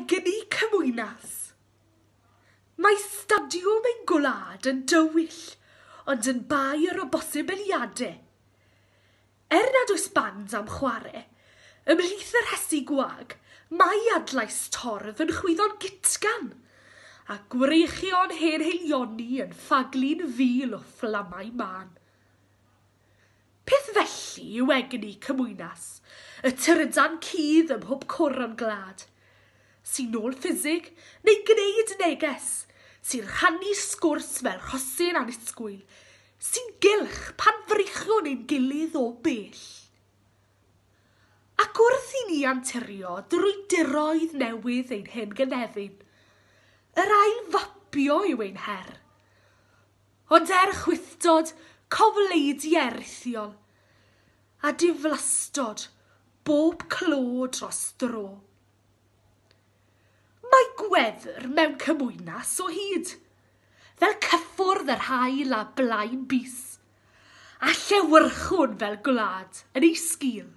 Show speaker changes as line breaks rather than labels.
Egni cymwynas. Mae stadiwm ein gwlad yn dywyll, ond yn bair o bosibiliadau. Er nad oes band am chwarae, ymhlith y rhesi gwag, mae adlais torf yn chwyddo'n gytgan, a gwreichion hen haelioni yn ffaglu'n fil o fflamau mân. Peth felly yw egni cymwynas, y trydan cudd ym mhob cwr o'n gwlad, sy'n nôl ffisig neu gwneud neges, sy'n rhannu sgwrs fel rhosyn annisgwyl, sy'n gylch pan freichiwn ein gilydd o bell. Ac wrth i ni anturio drwy diroedd newydd ein hen gynefin, yr ail fapio yw ein her. Ond er chwithdod cofleidiau rithiol, a diflastod bob clo dros dro. Mae gwefr mewn cymwynas o hyd, fel cyffwrdd yr haul a blaen bys, a llewyrchwn fel gwlad yn ei sgil.